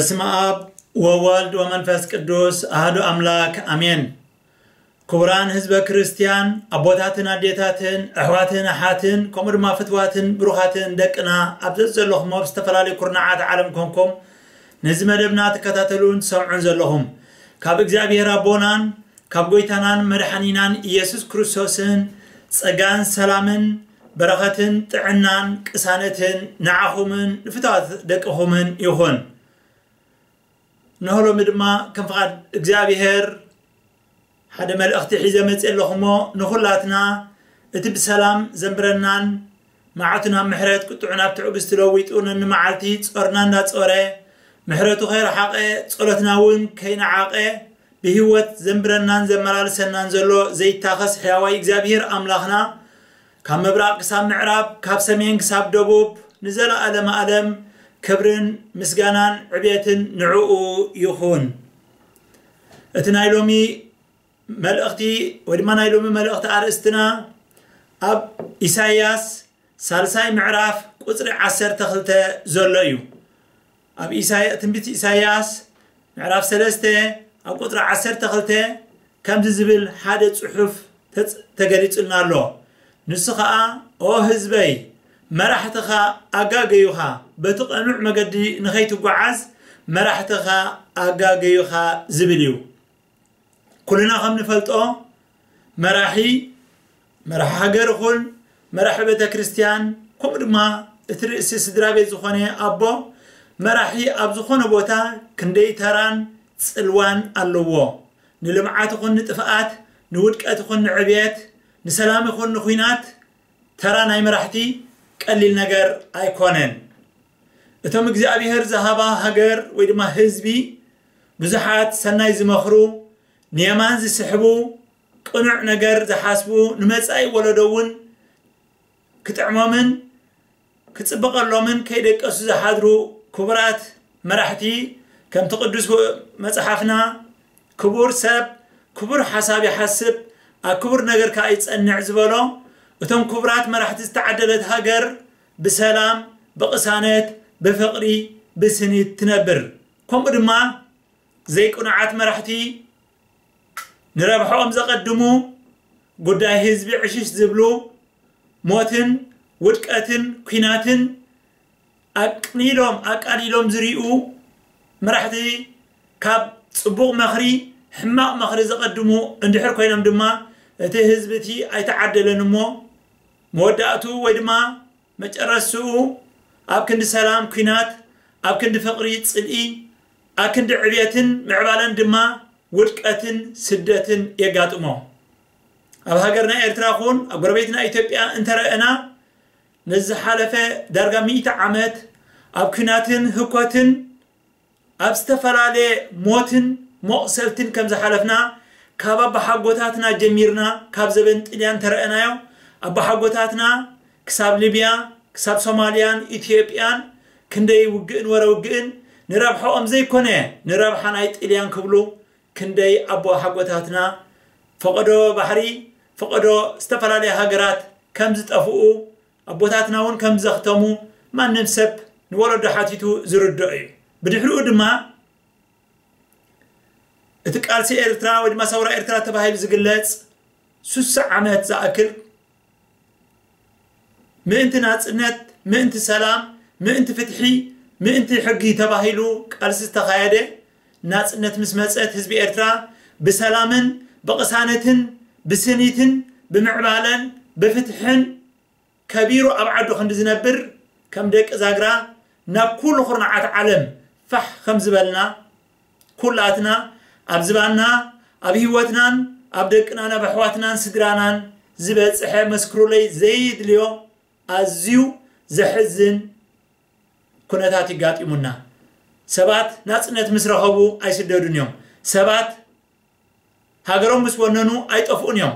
በስመ ኣብ ወወልድ ወመንፈስ ቅዱስ ኣሐዱ ኣምላክ ኣሜን። ክቡራን ህዝበ ክርስቲያን፣ ኣቦታትን ኣዴታትን፣ ኣሕዋትን ኣሓትን፣ ከምኡ ድማ ፍትዋትን ብሩኻትን ደቅና፣ ኣብ ዘዘለኹም ኣብ ዝተፈላለዩ ኩርናዓት ዓለም ኮንኩም ነዚ መደብና ትከታተሉን ትሰምዑን ዘለኹም፣ ካብ እግዚኣብሔር ኣቦናን ካብ ጎይታናን መድሓኒናን ኢየሱስ ክርስቶስን ጸጋን ሰላምን በረኸትን ጥዕናን ቅሳነትን ንዓኹምን ንፍትዋት ደቅኹምን ይኹን። እንሆ ሎሚ ድማ ከም ፍቓድ እግዚኣብሔር ሓደ መልእኽቲ ሒዘ መጽእ ኣለኹ እሞ፣ ንኹላትና እቲ ብሰላም ዘንብረናን መዓቱ ናብ ምሕረት ቁጥዑ ናብ ትዕግስቲ ለዊጡ ነንመዓልቲ ጾርና እንዳጾረ ምሕረቱ ከይረሓቐ ጸሎትና እውን ከይነዓቐ ብህይወት ዘንብረናን ዘመላልሰናን ዘሎ ዘይታኸስ ሕያዋይ እግዚኣብሔር ኣምላኽና ካብ ምብራቕ ክሳብ ምዕራብ ካብ ሰሜን ክሳብ ደቡብ ንዘለኣለመ ኣለም ክብርን ምስጋናን ዕብየትን ንዕኡ ይኹን። እቲ ናይ ሎሚ መልእኽቲ ወይ ድማ ናይ ሎሚ መልእኽቲ ኣርእስትና ኣብ ኢሳይያስ ሳልሳይ ምዕራፍ ቁጽሪ ዓሰርተ ክልተ ዘሎ እዩ። ኣብ ኢሳይ- ትንቢት ኢሳይያስ ምዕራፍ ሰለስተ ኣብ ቁጽሪ ዓሰርተ ክልተ ከምዚ ዝብል ሓደ ጽሑፍ ተጽ- ተገሊጹልና ኣሎ። ንሱ ኸኣ፣ "ኦ ህዝበይ፣ መራሕትኻ ኣጋገዩኻ፣ በቲ ቀኑዕ መገዲ ንኸይትጓዓዝ መራሕትኻ ኣጋገዩኻ" ዝብል እዩ። ኩልና ከም ንፈልጦ መራሒ መራሒ ሃገር ይኹን መራሒ ቤተ ክርስቲያን ከምኡ ድማ እቲ ርእሲ ስድራ ቤት ዝኾነ ኣቦ መራሒ ኣብ ዝኾነ ቦታ ክንደይ ተራን ጽልዋን ኣለዎ። ንልምዓት ይኹን ንጥፍኣት፣ ንውድቀት ይኹን ንዕብየት፣ ንሰላም ይኹን ንኹናት ተራ ናይ መራሕቲ ቀሊል ነገር ኣይኮነን። እቶም እግዚኣብሔር ዝሃባ ሃገር ወይ ድማ ህዝቢ ብዙሓት ሰናይ ዝመኽሩ፣ ንየማን ዝስሕቡ፣ ቅኑዕ ነገር ዝሓስቡ፣ ንመጻኢ ወለዶ እውን ክጥዕሞምን ክጽበቐሎምን ከይደቀሱ ዝሓድሩ ክቡራት መራሕቲ ከምቲ ቅዱስ መጽሓፍና ክቡር ሰብ ክቡር ሓሳብ ይሓስብ ኣብ ክቡር ነገር ከኣ ይጸንዕ ዝበሎ እቶም ክቡራት መራሕቲ ዝተዓደለት ሃገር ብሰላም ብቕሳነት ብፍቕሪ ብስኒት ትነብር። ከምኡ ድማ ዘይቅኑዓት መራሕቲ ንረብሐኦም ዘቐድሙ ጉዳይ ህዝቢ ዕሽሽ ዝብሉ ሞትን ውድቀትን ኲናትን ኣቅሊሎም ኣቃሊሎም ዝሪኡ መራሕቲ ካብ ጽቡቕ መኽሪ ሕማቕ መኽሪ ዘቐድሙ እንድሕር ኮይኖም ድማ እቲ ህዝቢ እቲ ኣይተዓደለን እሞ መወዳእቱ ወይ ድማ መጨረስኡ ኣብ ክንዲ ሰላም ኲናት ኣብ ክንዲ ፍቕሪ ጽልኢ ኣብ ክንዲ ዕብየትን ምዕባለን ድማ ውድቀትን ስደትን የጋጥሞ። ኣብ ሃገርና ኤርትራ ኹን ኣብ ጎረቤትና ኢትዮጵያ እንተረእና ነዝሓለፈ ዳርጋ ሚእቲ ዓመት ኣብ ኲናትን ህኮትን ኣብ ዝተፈላለየ ሞትን መቑሰልትን ከም ዝሓለፍና ካብ ኣባሓጎታትና ጀሚርና ካብ ዘበን ጥልያን ተረእናዮ ኣባሓጎታትና ክሳብ ሊብያ ክሳብ ሶማልያን ኢትዮጵያን ክንደይ ውግእን ወረ ውግእን ንረብሐኦም ዘይኮነ ንረብሓ ናይ ጥልያን ክብሉ ክንደይ ኣቦሓጎታትና ፈቐዶ ባሕሪ ፈቐዶ ዝተፈላለያ ሃገራት ከም ዝጠፍኡ ኣቦታትና እውን ከም ዘኽተሙ ማንም ሰብ ንወለዶ ሓቲቱ ዝርድኦ እዩ። ብድሕሪኡ ድማ እቲ ቃልሲ ኤርትራ ወይ ድማ ሰውራ ኤርትራ ተባሂሉ ዝግለጽ ሱሳ ዓመት ዝኣክል ምእንቲ ናጽነት ምእንቲ ሰላም ምእንቲ ፍትሒ ምእንቲ ሕጊ ተባሂሉ ቃልሲ ዝተኻየደ ናጽነት ምስ መጸት ህዝቢ ኤርትራ ብሰላምን ብቕሳነትን ብስኒትን ብምዕባለን ብፍትሕን ከቢሩ ኣብ ዓዱ ክንዲ ዝነብር ከም ደቂ ዛግራ ናብ ኩሉ ኩርናዓት ዓለም ፋሕ ከም ዝበልና ኩላትና ኣብ ዝባንና ኣብ ህይወትናን ኣብ ደቅናን ኣብ ኣሕዋትናን ስድራናን ዝበፅሐ መስክሩለይ ዘይድልዮ ኣዝዩ ዘሕዝን ኩነታት ይጋጢሙና። ሰባት ናፅነት ምስ ረኸቡ ኣይስደዱን እዮም። ሰባት ሃገሮም ምስ ወነኑ ኣይጠፍኡን እዮም።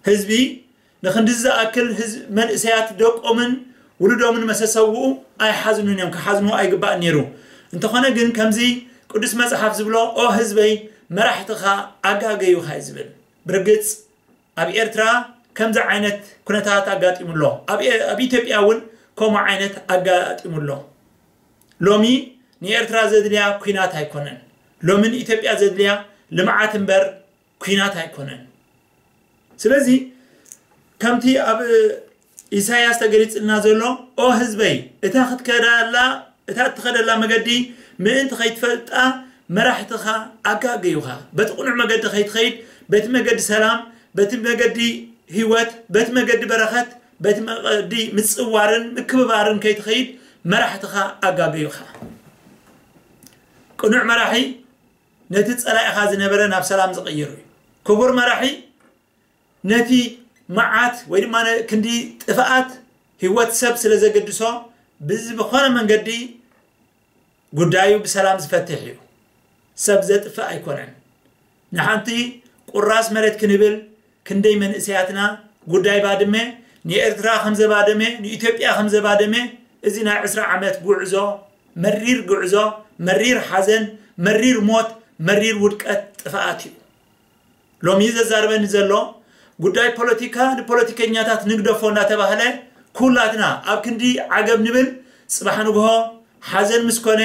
ህዝቢ ንክንድዚ ዝኣክል ህዝቢ መንእሰያት ደቆምን ውሉዶምን መሰሰውኡ ኣይሓዝኑን እዮም፣ ክሓዝኑ ኣይግባእን ነይሩ። እንተኾነ ግን ከምዚ ቅዱስ መጽሓፍ ዝብሎ ኦ ህዝበይ መራሕትኻ ኣጋገዩኻ እዩ ዝብል። ብርግጽ ኣብ ኤርትራ ከምዚ ዓይነት ኩነታት ኣጋጢሙ ኣሎ። ኣብ ኤ- ኣብ ኢትዮጵያ እውን ከምኡ ዓይነት ኣጋጢሙ ኣሎ። ሎሚ ንኤርትራ ዘድልያ ኲናት ኣይኮነን። ሎሚ ንኢትዮጵያ ዘድልያ ልምዓት እምበር ኲናት ኣይኮነን። ስለዚ ከምቲ ኣብ ኢሳያስ ተገሊጽልና ዘሎ፣ ኦ ህዝበይ፣ እታ ክትከዳላ እታ እትኸደላ መገዲ ምእንቲ ከይትፈልጣ መራሕትኻ ኣጋገዩኻ። በቲ ቅኑዕ መገዲ ከይትኸይድ፣ በቲ መገዲ ሰላም፣ በቲ መገዲ ህይወት፣ በቲ መገዲ በረኸት፣ በቲ መገዲ ምጽዋርን ምክብባርን ከይትኸይድ መራሕትኻ ኣጋገዩኻ። ቅኑዕ መራሒ ነቲ ጸላኢኻ ዝነበረ ናብ ሰላም ዝቕይር እዩ። ክቡር መራሒ ነቲ መዓት ወይ ድማ ነ-፣ ክንዲ ጥፍኣት ህይወት ሰብ ስለ ዘገድሶ ብዝኾነ መንገዲ ጉዳዩ ብሰላም ዝፈትሕ እዩ። ሰብ ዘጥፍእ ኣይኮነን። ንሓንቲ ቁራስ መሬት ክንብል ክንደይ መንእሰያትና ጉዳይ ባድመ ንኤርትራ ከም ዘባደመ ንኢትዮጵያ ከም ዘባደመ እዚ ናይ ዕስራ ዓመት ጉዕዞ መሪር ጉዕዞ መሪር ሓዘን መሪር ሞት መሪር ውድቀት ጥፍኣት እዩ። ሎሚ ዘዛርበኒ ዘሎ ጉዳይ ፖለቲካ ንፖለቲከኛታት ንግደፎ እናተባህለ ኩላትና ኣብ ክንዲ ዓገብ ንብል ጽባሕ ንግሆ ሓዘን ምስ ኮነ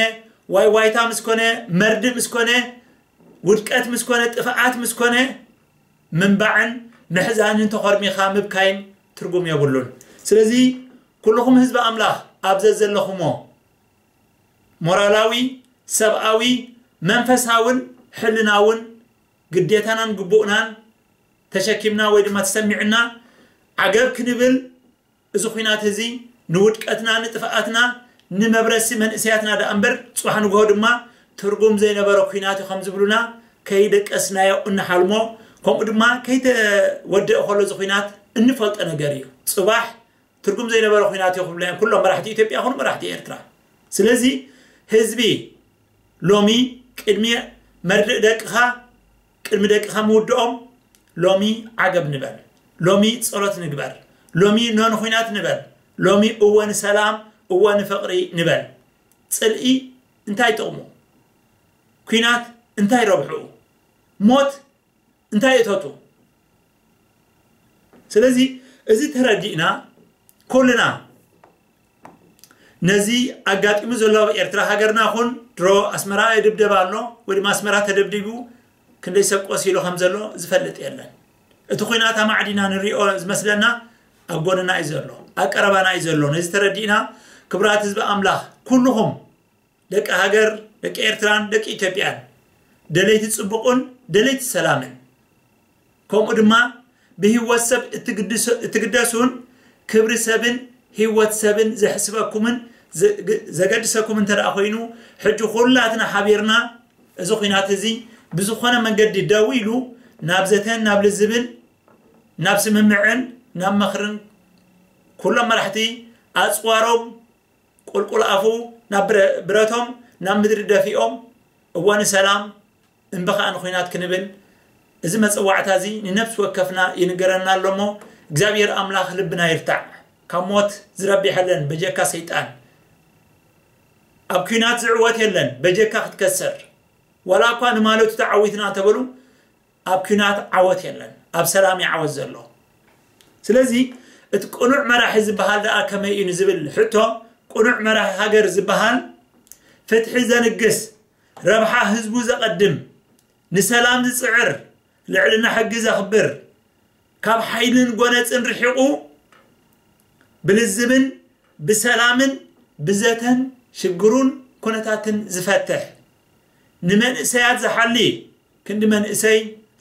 ዋይ ዋይታ ምስ ኮነ መርድእ ምስ ኮነ ውድቀት ምስ ኮነ ጥፍኣት ምስ ኮነ ምንባዕን ምሕዛንን ተኾርሚኻ ምብካይን ትርጉም የብሉን። ስለዚ ኩልኹም ህዝቢ ኣምላኽ ኣብ ዘዘለኹሞ ሞራላዊ ሰብኣዊ መንፈሳውን ሕልናውን ግዴታናን ግቡእናን ተሸኪምና ወይ ድማ ተሰሚዕና ዓገብ ክንብል እዚ ኲናት እዚ ንውድቀትና ንጥፍኣትና ንመብረሲ መንእሰያትና ደኣ እምበር ጽባሕ ንግሆ ድማ ትርጉም ዘይነበሮ ኲናት እዩ ከም ዝብሉና ከይደቀስናዮ እንሓልሞ ከምኡ ድማ ከይተወደአ ከሎ እዚ ኲናት እንፈልጦ ነገር እዩ። ጽባሕ ትርጉም ዘይነበረ ኲናት እዩ ክብሉ እዮም ኩሎም መራሕቲ ኢትዮጵያ ይኹኑ መራሕቲ ኤርትራ። ስለዚ ህዝቢ ሎሚ ቅድሚ መርድእ ደቅኻ ቅድሚ ደቅኻ ምውድኦም ሎሚ ዓገብ ንበል። ሎሚ ጸሎት ንግበር። ሎሚ ኖ ንኹናት ንበል። ሎሚ እወ ንሰላም እወ ንፍቕሪ ንበል። ጽልኢ እንታይ ጥቕሙ? ኲናት እንታይ ረብሕኡ? ሞት እንታይ እተቱ? ስለዚ እዚ ተረዲእና ኩልና ነዚ ኣጋጢሙ ዘሎ ኣብ ኤርትራ ሃገርና ኹን ድሮ ኣስመራ ይድብደብ ኣሎ ወይ ድማ ኣስመራ ተደብዲቡ ክንደይ ሰብ ቆሲሉ ከም ዘሎ ዝፈልጥ የለን። እቲ ኹናት ኣማዕዲና ንሪኦ ዝመስለና ኣብ ጎንና እዩ ዘሎ፣ ኣብ ቀረባና እዩ ዘሎ። ነዚ ተረዲእና ክቡራት ህዝቢ ኣምላኽ ኩልኹም ደቂ ሃገር ደቂ ኤርትራን ደቂ ኢትዮጵያን ደለይቲ ጽቡቕን ደለይቲ ሰላምን ከምኡ ድማ ብህይወት ሰብ እትግድሰ- እትግደሱን ክብሪ ሰብን ህይወት ሰብን ዘሕስበኩምን ዘ- ዘገድሰኩም እንተ ደኣ ኮይኑ ሕጂ ኩላትና ሓቢርና እዚ ኹናት እዚ ብዝኾነ መንገዲ ደው ኢሉ ናብ ዘተን ናብ ልዝብን ናብ ስምምዕን ናብ መኽርን ኩሎም መራሕቲ ኣጽዋሮም ቁልቁል ኣፉ ናብ ብረ- ብረቶም ናብ ምድሪ ደፊኦም እወ ንሰላም እምበ ኸኣ ንኹናት ክንብል እዚ መጸዋዕታ እዚ ንነብሲ ወከፍና ይንገረና ኣሎ እሞ እግዚኣብሔር ኣምላኽ ልብና ይርታዕ። ካብ ሞት ዝረብሕ የለን በጀካ ሰይጣን። ኣብ ኲናት ዝዕወት የለን በጀካ ክትከስር። ዋላ እኳ ንማለቱ ተዓዊትና እንተበሉ ኣብ ኲናት ዓወት የለን፣ ኣብ ሰላም እዩ ዓወት ዘሎ። ስለዚ እቲ ቅኑዕ መራሒ ዝበሃል ደኣ ከመይ እዩ ንዝብል ሕቶ ቅኑዕ መራሒ ሃገር ዝበሃል ፍትሒ ዘንግስ ረብሓ ህዝቡ ዘቐድም ንሰላም ዝጽዕር ልዕልና ሕጊ ዘኽብር ካብ ሓይልን ጎነጽን ርሒቑ ብልዝብን ብሰላምን ብዘተን ሽግሩን ኩነታትን ዝፈትሕ ንመንእሰያት ዝሓሊ ክንዲ መንእሰይ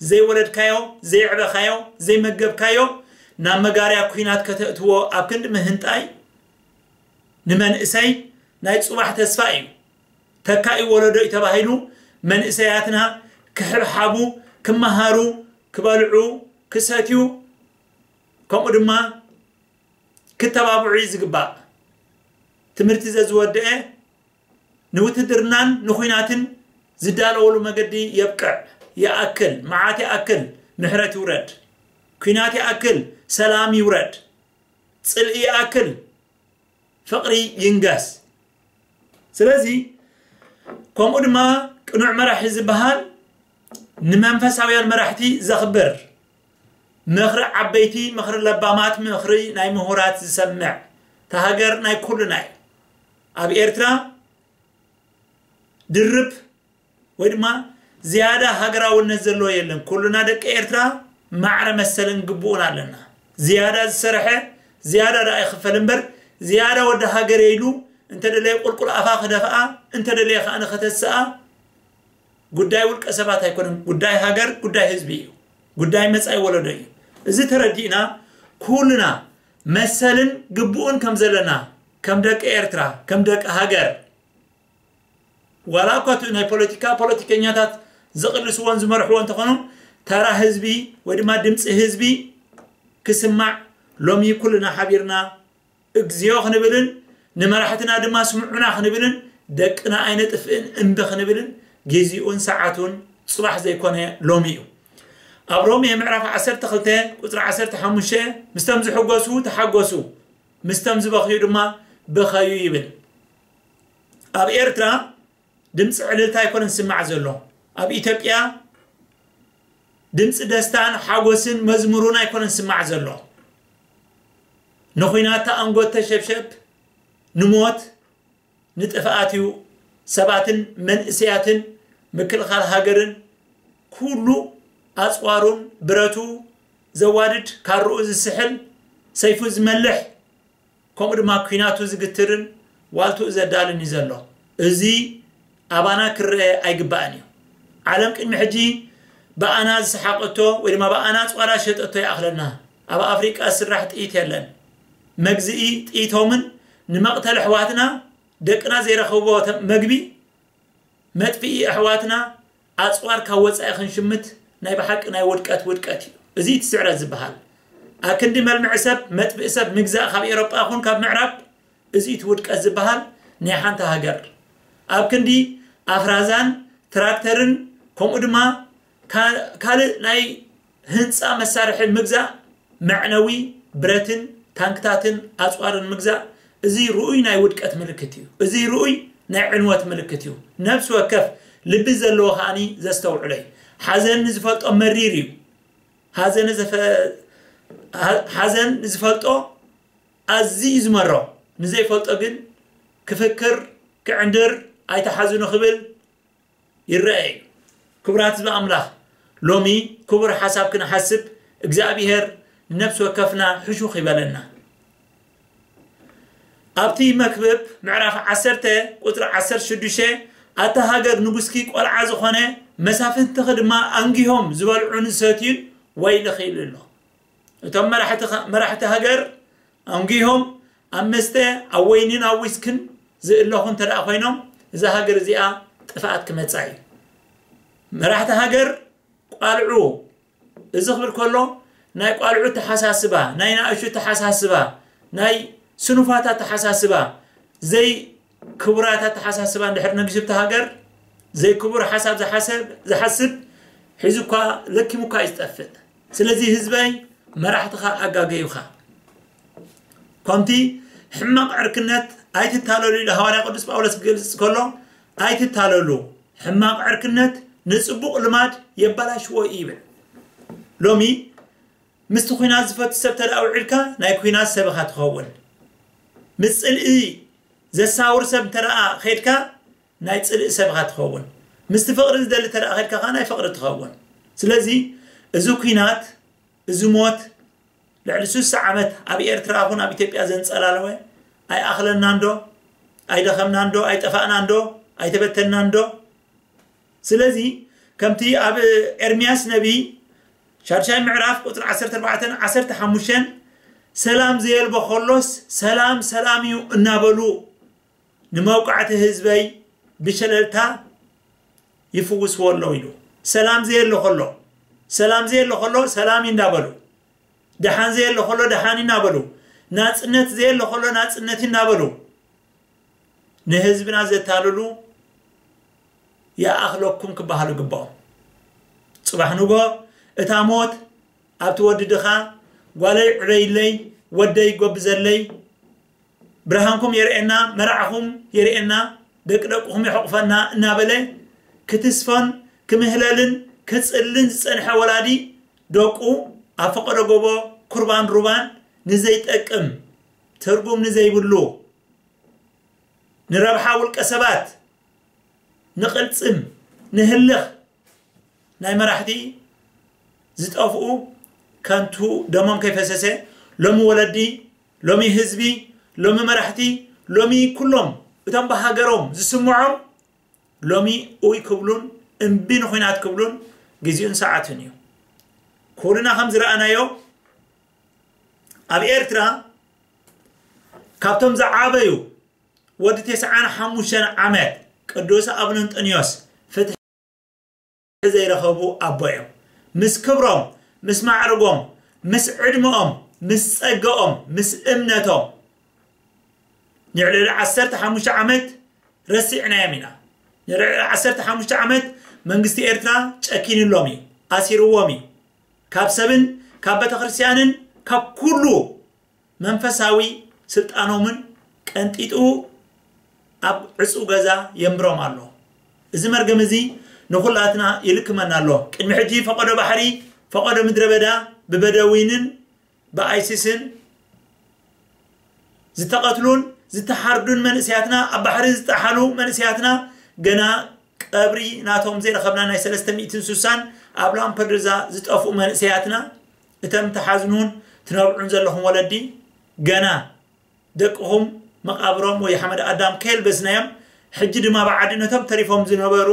ዘይወለድካዮ ዘይዕበኻዮ ዘይመገብካዮ ናብ መጋርያ ኲናት ከተእትዎ ኣብ ክንዲ ምህንጣይ ንመንእሰይ ናይ ጽባሕ ተስፋ እዩ። ተካኢ ወለዶ እዩ ተባሂሉ መንእሰያትና ክሕብሓቡ ክመሃሩ ክበልዑ ክሰትዩ ከምኡ ድማ ክተባብዑ እዩ ዝግባእ። ትምህርቲ ዘዝወደአ ንውትድርናን ንኹናትን ዝዳለወሉ መገዲ የብቅዕ። ይኣክል፣ መዓት ይኣክል፣ ምሕረት ይውረድ። ኲናት ይኣክል፣ ሰላም ይውረድ። ጽልኢ ይኣክል፣ ፍቕሪ ይንገስ። ስለዚ ከምኡ ድማ ቅኑዕ መራሒ ዝበሃል ንመንፈሳውያን መራሕቲ ዘኽብር ምኽሪ ዓበይቲ ምኽሪ ለባማት ምኽሪ ናይ ምሁራት ዝሰምዕ ተሃገር ናይ ኩልና እዩ። ኣብ ኤርትራ ድርብ ወይ ድማ ዝያዳ ሃገራውነት ዘለዎ የለን። ኩልና ደቂ ኤርትራ ማዕረ መሰልን ግቡእን ኣለና። ዝያዳ ዝሰርሐ ዝያዳ ደኣ ይኽፈል እምበር፣ ዝያዳ ወዲ ሃገር ኢሉ እንተደለየ ቁልቁል ኣፋ ክደፍኣ፣ እንተደለየ ከኣ ንኸተስኣ፣ ጉዳይ ውልቀ ሰባት ኣይኮነን። ጉዳይ ሃገር፣ ጉዳይ ህዝቢ እዩ። ጉዳይ መጻኢ ወለዶ እዩ። እዚ ተረዲእና ኩልና መሰልን ግቡእን ከም ዘለና፣ ከም ደቂ ኤርትራ፣ ከም ደቂ ሃገር፣ ዋላ እኳ እቲ ናይ ፖለቲካ ፖለቲከኛታት ዝቕልስዎን ዝመርሕዎ እንተኾኑ፣ ተራ ህዝቢ ወይ ድማ ድምፂ ህዝቢ ክስማዕ ሎሚ ኩልና ሓቢርና እግዚኣብሔር ክንብልን ንመራሕትና ድማ ስምዑና ክንብልን ደቅና ኣይነጥፍእን እምቢ ክንብልን ግዜኡን ሰዓቱን ጽባሕ ዘይኮነ ሎሚ እዩ። ኣብ ሮሜ ምዕራፍ ዓሰርተ ክልተ ቁጽሪ ዓሰርተ ሓሙሽተ፣ "ምስቶም ዝሕጎሱ ተሓጎሱ፣ ምስቶም ዝበኽዩ ድማ ብኸዩ" ይብል። ኣብ ኤርትራ ድምፂ ዕልልታ ኣይኮነን ዝስማዕ ዘሎ። ኣብ ኢትዮጵያ ድምፂ ደስታን ሓጎስን መዝሙሩን ኣይኮነን ዝስማዕ ዘሎ። ንኹናት ተኣንጎት ተሸብሸብ፣ ንሞት፣ ንጥፍኣት እዩ። ሰባትን መንእሰያትን ምክልኻል ሃገርን ኩሉ ኣፅዋሩን ብረቱ ዘዋድድ፣ ካርኡ ዝስሕል፣ ሰይፉ ዝመልሕ፣ ከምኡ ድማ ኲናቱ ዝግትርን ዋልትኡ ዘዳልን እዩ ዘሎ። እዚ ኣባና ክረአ ኣይግባእን እዩ። ዓለም ቅድሚ ሕጂ ብኣና ዝሰሓቐቶ ወይ ድማ ብኣና ኣፅዋራ ዝሸጠቶ ይኣኽለና። ኣብ ኣፍሪቃ ዝስራሕ ጥይት የለን። መግዝኢ ጥይቶምን ንመቕተሊ ኣሕዋትና ደቅና ዘይረኸብዎ ተ-፣ መግቢ መጥፍኢ ኣሕዋትና ኣፅዋር ካብ ወፃኢ ክንሽምት ናይ ብሓቂ ናይ ውድቀት ውድቀት እዩ። እዚ እቲ ስዕረት ዝበሃል። ኣብ ክንዲ መልምዒ ሰብ፣ መጥፍኢ ሰብ ምግዛእ ካብ ኤሮጳ ይኹን ካብ ምዕራብ፣ እዚ እቲ ውድቀት ዝበሃል ናይ ሓንቲ ሃገር። ኣብ ክንዲ ኣፍራዛን ትራክተርን ከምኡ ድማ ካ-፣ ካልእ ናይ ህንፃ መሳርሒ ምግዛእ መዕነዊ ብረትን ታንክታትን ኣፅዋርን ምግዛእ፣ እዚ ርኡይ ናይ ውድቀት ምልክት እዩ። እዚ ርኡይ ናይ ዕንወት ምልክት እዩ። ነፍሲ ወከፍ ልቢ ዘለዎ ከኣኒ ዘስተውዕሎ እዩ። ሓዘን ንዝፈልጦ መሪር እዩ። ሓዘን ዘፈ-፣ ሓ-፣ ሓዘን ንዝፈልጦ ኣዝዩ እዩ ዝመሮ። ንዘይፈልጦ ግን ክፍክር፣ ክዕንድር፣ ኣይተሓዝኑ ክብል ይረአ እዩ። ክቡራት ህዝቢ ኣምላኽ፣ ሎሚ ክቡር ሓሳብ ክንሓስብ እግዚኣብሔር ንነፍሲ ወከፍና ሕሹኽ ይበለና። ኣብቲ መክብብ ምዕራፍ ዓሰርተ ቁጽሪ ዓሰርተ ሽዱሽተ፣ "ኣታ ሃገር ንጉስኪ ቆልዓ ዝኾነ፣ መሳፍንትኺ ድማ ኣንጊሆም ዝበልዑን ዝሰትዩን ወይልኺ" ኢሉ ኣሎ። እቶም መራሕቲ፣ መራሕቲ ሃገር ኣንጊሆም ኣብ መስተ፣ ኣብ ወይንን ኣብ ዊስክን ዝእለኹ እንተ ደኣ ኮይኖም፣ እዛ ሃገር እዚኣ ጥፍኣት ክመጻ እዩ። መራሕቲ ሃገር ቋልዑ፣ እዚ ክብል ከሎ ናይ ቋልዑ ተሓሳስባ፣ ናይ ናእሹ ተሓሳስባ፣ ናይ ስኑፋት ኣተሓሳስባ፣ ዘይ ክቡራት ኣተሓሳስባ እንድሕር ነጊሱብቲ ሃገር፣ ዘይክቡር ሓሳብ ዝሓሰብ-፣ ዝሓስብ ሒዙ እኳ ለኪሙ እኳ እዩ ዝጠፍእ። ስለዚ ህዝበይ፣ መራሕትኻ ኣጋገዩኻ። ከምቲ ሕማቕ ዕርክነት ኣይትታለሉ ኢሉ ሃዋርያ ቅዱስ ጳውሎስ ክገልጽ ከሎ፣ ኣይትታለሉ፣ ሕማቕ ዕርክነት ንጽቡቕ ልማድ የበላሽዎ እዩ ይብል። ሎሚ ምስቲ ኲናት ዝፈቱ ሰብ ተደኣ ውዒልካ፣ ናይ ኲናት ሰብ ኢኻ ትኸውን። ምስ ጽልኢ ዘሳውር ሰብ እንተ ደኣ ኸይድካ፣ ናይ ጽልኢ ሰብ ኢኻ ትኸውን። ምስቲ ፍቕሪ ዝደሊ እንተ ደኣ ኸይድካ ኸኣ፣ ናይ ፍቕሪ ትኸውን። ስለዚ እዚ ኲናት፣ እዚ ሞት፣ ልዕሊ ስሳ ዓመት ኣብ ኤርትራ ኹን ኣብ ኢትዮጵያ ዘንጸላለወ፣ ኣይኣኽለናን ዶ? ኣይደኸምናን ዶ? ኣይጠፋእናን ዶ? ኣይተበተንናን ዶ? ስለዚ ከምቲ ኣብ ኤርምያስ ነቢይ ሻድሻይ ምዕራፍ ቁጽሪ ዓሰርተ ኣርባዕተን ዓሰርተ ሓሙሽተን፣ "ሰላም ዘየልቦ ከሎስ ሰላም ሰላም እዩ" እናበሉ ንመውቃዕቲ ህዝበይ ብሸለልታ ይፍውስዎ ኣለዉ ኢሉ። ሰላም ዘየሎ ከሎ፣ ሰላም ዘየሎ ከሎ ሰላም እዩ እናበሉ፣ ደሓን ዘየሎ ከሎ ደሓን እዩ እናበሉ፣ ናጽነት ዘየሎ ከሎ ናጽነት እዩ እናበሉ ንህዝብና ዘታልሉ ይኣኽለኩም ክበሃሉ ይግባኦም። ጽባሕ ንግሆ እታ ሞት ኣብቲ ወዲ ድኻ፣ "ጓለይ ዕበይለይ፣ ወደይ ጎብዘለይ፣ ብርሃንኩም የርእየና፣ መርዓኹም የርእየና፣ ደቂ ደቅኹም የሕቑፈና" እናበለ ክትስፎን ክምህለልን ክጽልን ዝጸንሐ ወላዲ፣ ደቁ ኣብ ፈቐዶ ጎቦ ኩርባን ሩባን ንዘይጠቅም፣ ትርጉም ንዘይብሉ፣ ንረብሓ ውልቀ ሰባት፣ ንቕልጽም ንህልኽ ናይ መራሕቲ ዝጠፍኡ ከንቱ ደሞም ከይፈሰሰ ሎሚ ወለዲ፣ ሎሚ ህዝቢ፣ ሎሚ መራሕቲ፣ ሎሚ ኩሎም እቶም ብሃገሮም ዝስምዖም ሎሚ ኡይ ክብሉን እምቢ ንኹናት ክብሉን ግዜኡን ሰዓቱን እዩ። ኩልና ከም ዝረኣናዮ ኣብ ኤርትራ ካብቶም ዝዓበዩ ወዲ ተስዓን ሓሙሽተን ዓመት ቅዱስ ኣቡነ እንጠንዮስ ፍትሒ ዘይረኸቡ ኣቦ እዮም። ምስ ክብሮም፣ ምስ ማዕርጎም፣ ምስ ዕድመኦም፣ ምስ ጸገኦም፣ ምስ እምነቶም ንልዕሊ ዓሰርተ ሓሙሽተ ዓመት ረሲዕናዮም ኢና። ንልዕሊ ዓሰርተ ሓሙሽተ ዓመት መንግስቲ ኤርትራ ጨኪንሎም እዩ፣ ኣሲርዎም እዩ። ካብ ሰብን ካብ ቤተክርስትያንን ካብ ኩሉ መንፈሳዊ ስልጣኖምን ቀንጢጡ ኣብ ዕጹው ገዛ የንብሮም ኣሎ። እዚ መርገም እዚ ንኹላትና ይልክመና ኣሎ። ቅድሚ ሕጂ ፈቐዶ ባሕሪ፣ ፈቐዶ ምድረ በዳ ብበደዊንን ብኣይሲስን ዝተቐትሉን ዝተሓርዱን መንእሰያትና፣ ኣብ ባሕሪ ዝጠሓሉ መንእሰያትና፣ ገና ቀብሪ ናቶም ዘይረኸብና ናይ ሰለስተ ሚእትን ስሳን ኣብ ላምፐዱዛ ዝጠፍኡ መንእሰያትና፣ እቶም ትሓዝኑን ትነብዑን ዘለኹም ወለዲ፣ ገና ደቅኹም መቓብሮም ወይ ሓመድ ኣዳም ከየልበስናዮም፣ ሕጂ ድማ ብዓዲ ነቶም ተሪፎም ዝነበሩ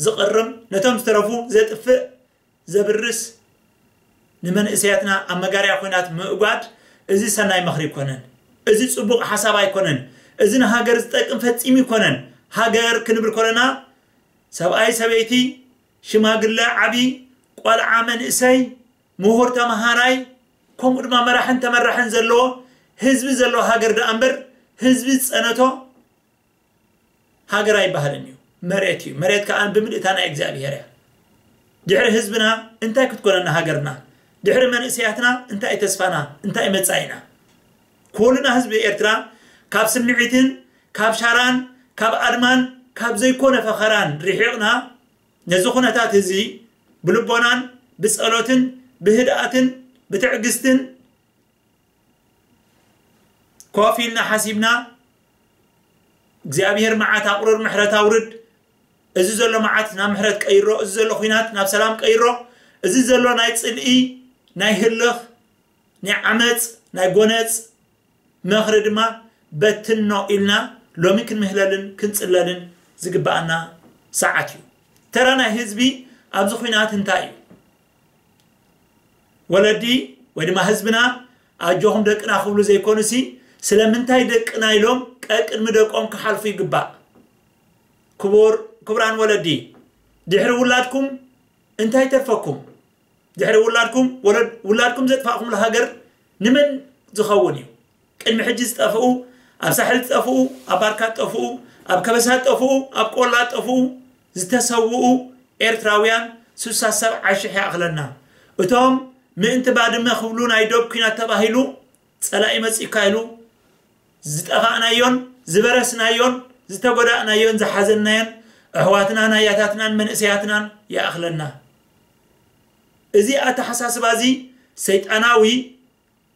ዝቕርም፣ ነቶም ዝተረፉ ዘጥፍእ፣ ዘብርስ፣ ንመንእሰያትና ኣብ መጋርያ ኹናት ምእጓድ፣ እዚ ሰናይ ምኽሪ ኣይኮነን። እዚ ጽቡቕ ሓሳብ ኣይኮነን። እዚ ንሃገር ዝጠቅም ፈጺሙ ኣይኮነን። ሃገር ክንብል ከለና ሰብኣይ፣ ሰበይቲ፣ ሽማግለ፣ ዓቢ፣ ቆልዓ፣ መንእሰይ፣ ምሁር፣ ተመሃራይ፣ ከምኡ ድማ መራሕን ተመራሕን ዘለዎ ህዝቢ ዘለዎ ሃገር ደኣ እምበር፣ ህዝቢ ዝጸነቶ ሃገር ኣይበሃልን እዩ። መሬት እዩ። መሬት ከኣ ብምልእታ ናይ እግዚኣብሔር እያ። ድሕሪ ህዝብና እንታይ ክትኮነና ሃገርና? ድሕሪ መንእሰያትና እንታይ ተስፋና? እንታይ መጻኢና? ኩልና ህዝቢ ኤርትራ ካብ ስምዒትን ካብ ሻራን ካብ ኣድማን ካብ ዘይኮነ ፈኸራን ርሒቕና፣ ነዚ ኩነታት እዚ ብልቦናን ብጸሎትን ብህድኣትን ብትዕግስትን ኮፍ ኢልና ሓሲብና፣ እግዚኣብሔር መዓት ኣቑርር፣ ምሕረት ኣውርድ፣ እዚ ዘሎ መዓት ናብ ምሕረት ቀይሮ፣ እዚ ዘሎ ኹናት ናብ ሰላም ቀይሮ፣ እዚ ዘሎ ናይ ጽልኢ፣ ናይ ህልኽ፣ ናይ ዓመጽ፣ ናይ ጎነጽ መኽሪ ድማ በትኖ ኢልና ሎሚ ክንምህለልን ክንጽለልን ዝግብኣና ሰዓት እዩ። ተራ ናይ ህዝቢ ኣብዚ ኹናት እንታይ እዩ? ወለዲ ወይ ድማ ህዝብና ኣጆኹም ደቅና ክብሉ ዘይኮኑሲ፣ ስለምንታይ ደቅና ኢሎም ቀቅድሚ ደቆም ክሓልፉ ይግባእ። ክቡር፣ ክቡራን ወለዲ፣ ድሕሪ ውላድኩም እንታይ ተርፈኩም? ድሕሪ ውላድኩም፣ ወለድ-፣ ውላድኩም ዘጥፋእኩምሉ ሃገር ንመን ዝኸውን እዩ? ቅድሚ ሕጂ ዝጠፍኡ፣ ኣብ ሳሕል ዝጠፍኡ፣ ኣብ ባርካ ዝጠፍኡ፣ ኣብ ከበሳ ዝጠፍኡ፣ ኣብ ቆላ ዝጠፍኡ፣ ዝተሰውኡ ኤርትራውያን ስሳ ሰብዓ ሽሕ ይኣኽለና። እቶም ምእንቲ ባድመ ክብሉ ናይ ዶብ ኲናት ተባሂሉ ጸላኢ መጺእካ ኢሉ ዝጠፋእናዮን ዝበረስናዮን ዝተጎዳእናዮን ዝሓዘናዮን ኣሕዋትናን ኣያታትናን መንእሰያትናን ይኣኽለና። እዚ ኣተሓሳስባ እዚ ሰይጣናዊ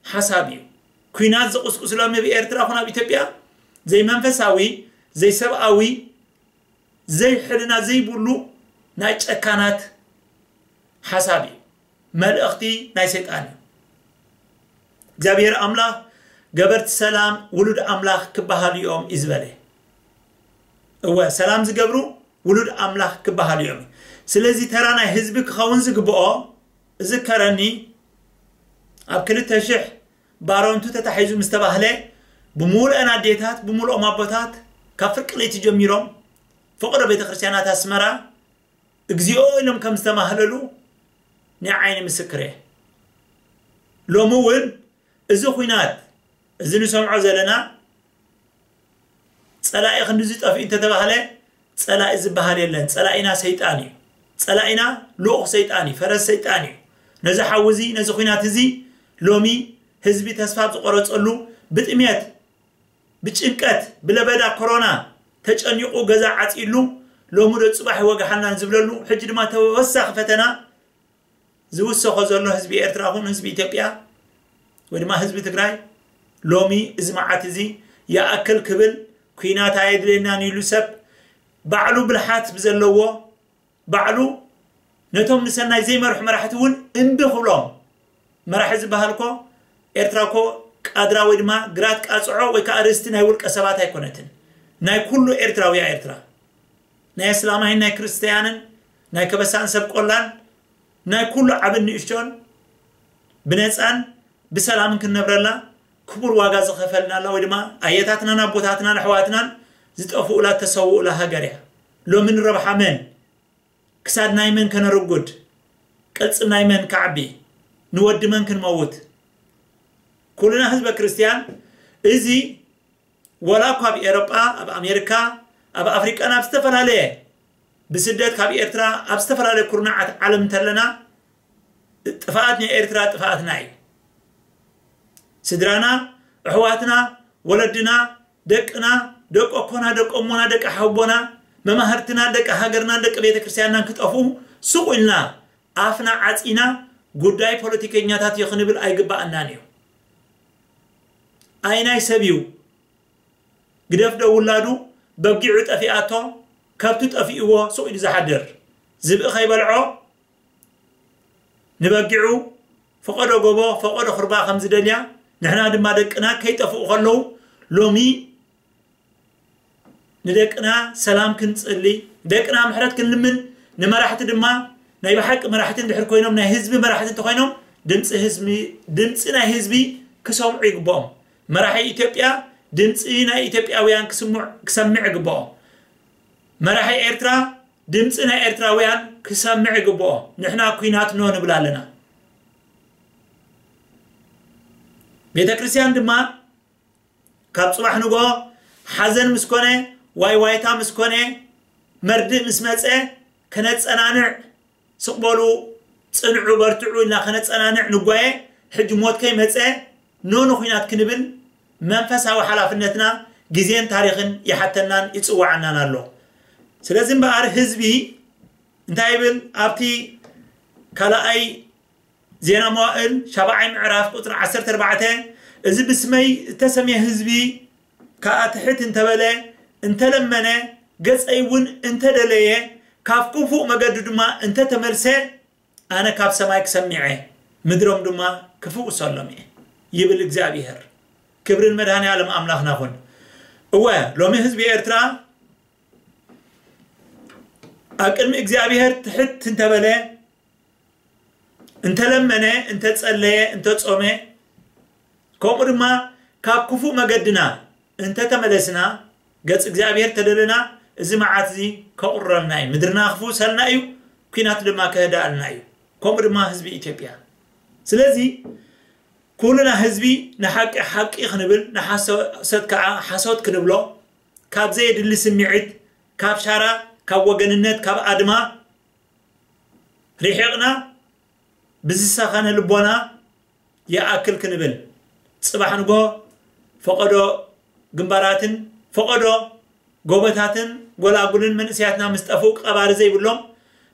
ሓሳብ እዩ። ኲናት ዝቕስቅስሎም ኣብ ኤርትራ ኹን ኣብ ኢትዮጵያ ዘይመንፈሳዊ፣ ዘይሰብኣዊ፣ ዘይሕልና ዘይብሉ ናይ ጨካናት ሓሳብ እዩ። መልእኽቲ ናይ ሰይጣን እዩ። እግዚኣብሔር ኣምላኽ ገበርቲ ሰላም ውሉድ ኣምላኽ ክበሃሉ እዮም እዩ ዝበለ። እወ፣ ሰላም ዝገብሩ ውሉድ ኣምላኽ ክበሃሉ እዮም። ስለዚ ተራ ናይ ህዝቢ ክኸውን ዝግብኦ፣ እዝከረኒ፣ ኣብ ክልተ ሽሕ ባረንቱ ተታሒዙ ምስ ተባህለ፣ ብምሉአን ኣዴታት፣ ብምሉኦም ኣቦታት፣ ካብ ፍርቂ ለይቲ ጀሚሮም ፍቕሪ ቤተ ክርስቲያናት ኣስመራ እግዚኣብሔር ኢሎም ከም ዝተማህለሉ ናይ ዓይኒ ምስክር እየ። ሎሚ እውን እዚ ኹናት እዚ ንሰምዖ ዘለና ጸላኢ ክንድዚ ጠፊኡ እንተተባህለ፣ ጸላኢ ዝበሃል የለን። ጸላኢና ሰይጣን እዩ። ጸላኢና ልኡኽ ሰይጣን እዩ፣ ፈረስ ሰይጣን እዩ። ነዚ ሓዊ እዚ፣ ነዚ ኹናት እዚ ሎሚ ህዝቢ ተስፋ ኣብ ዝቆረጸሉ፣ ብጥሜት፣ ብጭንቀት፣ ብለበዳ ኮሮና ተጨኒቑ ገዛ ዓጺሉ፣ ሎሚ ዶ ጽባሕ ይወግሓልና ዝብለሉ፣ ሕጂ ድማ ተወሳኺ ፈተና ዝውሰኾ ዘሎ ህዝቢ ኤርትራ ኹን ህዝቢ ኢትዮጵያ ወይ ድማ ህዝቢ ትግራይ፣ ሎሚ እዚ መዓት እዚ ይኣክል ክብል፣ ኲናት ኣየድልየናን ኢሉ ሰብ ባዕሉ ብልሓት ብዘለዎ፣ ባዕሉ ነቶም ንሰናይ ዘይመርሑ መራሕቲ እውን እምቢ ክብሎም። መራሒ ዝበሃል እኮ፣ ኤርትራ እኮ ቃድራ ወይ ድማ ግራት ቃጽዖ ወይ ከዓ ርስቲ ናይ ውልቀ ሰባት ኣይኮነትን። ናይ ኩሉ ኤርትራዊ እያ ኤርትራ። ናይ እስላማይን ናይ ክርስትያንን፣ ናይ ከበሳን ሰብ ቆላን፣ ናይ ኩሉ ዓብን ንእሽቶን ብነፃን ብሰላምን ክንነብረላ ክቡር ዋጋ ዝኸፈልናላ ወይ ድማ ኣየታትናን ኣቦታትናን ኣሕዋትናን ዝጠፍኡላ ተሰውኡላ ሃገር እያ። ሎሚ ንረብሓ መን? ክሳድ ናይ መን ከነርጉድ? ቅልጽም ናይ መን ከዓቢ? ንወዲ መን ክንመውት? ኩልና ህዝበ ክርስትያን፣ እዚ ወላ እኳ ኣብ ኤሮጳ፣ ኣብ ኣሜሪካ፣ ኣብ ኣፍሪቃን ኣብ ዝተፈላለየ ብስደት ካብ ኤርትራ ኣብ ዝተፈላለየ ኩርናዓት ዓለም እንተለና፣ ጥፍኣት ናይ ኤርትራ ጥፍኣትና እዩ። ስድራና፣ ኣሕዋትና፣ ወለድና፣ ደቅና፣ ደቂ ኣኮና፣ ደቂ እሞና፣ ደቂ ሓቦና፣ መማህርትና፣ ደቂ ሃገርናን ደቂ ቤተ ክርስቲያንናን ክጠፍኡ ሱቕ ኢልና ኣፍና ዓጺና ጉዳይ ፖለቲከኛታት እዩ ክንብል ኣይግባኣናን እዩ። ኣይ ናይ ሰብ እዩ። ግደፍ ዶ ውላዱ በጊዑ ጠፊኣቶ፣ ከብቱ ጠፊእዎ ሱቕ ኢሉ ዝሓድር፣ ዝብኢ ከይበልዖ ንበጊዑ ፈቐዶ ጎቦ ፈቐዶ ኹርባ ከም ዝደልያ፣ ንሕና ድማ ደቅና ከይጠፍኡ ከለዉ ሎሚ ንደቅና ሰላም ክንጽሊ፣ ደቅና ምሕረት ክንልምን፣ ንመራሕቲ ድማ ናይ ብሓቂ መራሕቲ እንድሕር ኮይኖም፣ ናይ ህዝቢ መራሕቲ እንተኾይኖም፣ ድምፂ ህዝቢ፣ ድምፂ ናይ ህዝቢ ክሰምዑ ይግብኦም። መራሒ ኢትዮጵያ ድምፂ ናይ ኢትዮጵያውያን ክስምዕ፣ ክሰምዕ ይግብኦ። መራሒ ኤርትራ ድምፂ ናይ ኤርትራውያን ክሰምዕ ይግብኦ። ንሕና ኲናት ኖ ንብል ኣለና። ቤተ ክርስቲያን ድማ ካብ ጽባሕ ንግሆ ሓዘን ምስ ኮነ፣ ዋይ ዋይታ ምስ ኮነ፣ መርድእ ምስ መጸ፣ ከነጸናንዕ፣ ስቕ በሉ፣ ጽንዑ፣ በርትዑ ኢልና ከነጸናንዕ ንጓየ። ሕጂ ሞት ከይመጸ ኖ ንኹናት ክንብል መንፈሳዊ ሓላፍነትና ግዜን ታሪኽን ይሓተናን ይጽውዓናን ኣሎ። ስለዚ እምበኣር ህዝቢ እንታይ ይብል? ኣብቲ ካልኣይ ዜና መዋእል ሻብዓይ ምዕራፍ ቁጽሪ ዓሰርተ ኣርባዕተ፣ እዚ ብስመይ እተሰምየ ህዝቢ ከኣ ትሕት እንተበለ፣ እንተለመነ፣ ገጸይ እውን እንተደለየ፣ ካብ ክፉእ መገዱ ድማ እንተተመልሰ፣ ኣነ ካብ ሰማይ ክሰምዕ እየ፣ ምድሮም ድማ ክፍውሰሎም እየ፣ ይብል እግዚኣብሄር። ክብሪ ንመድኃኔ ዓለም ኣምላኽና ይኹን። እወ፣ ሎሚ ህዝቢ ኤርትራ ኣብ ቅድሚ እግዚኣብሄር ትሕት እንተበለ፣ እንተለመነ፣ እንተጸለየ፣ እንተጾመ፣ ከምኡ ድማ ካብ ክፉእ መገድና እንተተመለስና፣ ገጽ እግዚኣብሄር ተደለና፣ እዚ መዓት እዚ ከቑርረልና እዩ። ምድርና ክፍውሰልና እዩ፣ ኲናት ድማ ክህዳእልና እዩ። ከምኡ ድማ ህዝቢ ኢትዮጵያ። ስለዚ ኩልና ህዝቢ ንሓቂ ሓቂ ክንብል፣ ንሓሶት ከዓ ሓሶት ክንብሎ፣ ካብ ዘየድሊ ስምዒት፣ ካብ ሻራ፣ ካብ ወገንነት፣ ካብ ኣድማ ርሒቕና ብዝሰኸነ ልቦና ይኣክል ክንብል፣ ጽባሕ ንግሆ ፈቐዶ ግንባራትን ፈቐዶ ጎቦታትን ጎላጉልን መንእሰያትና ምስ ጠፍኡ ቀባሪ ዘይብሎም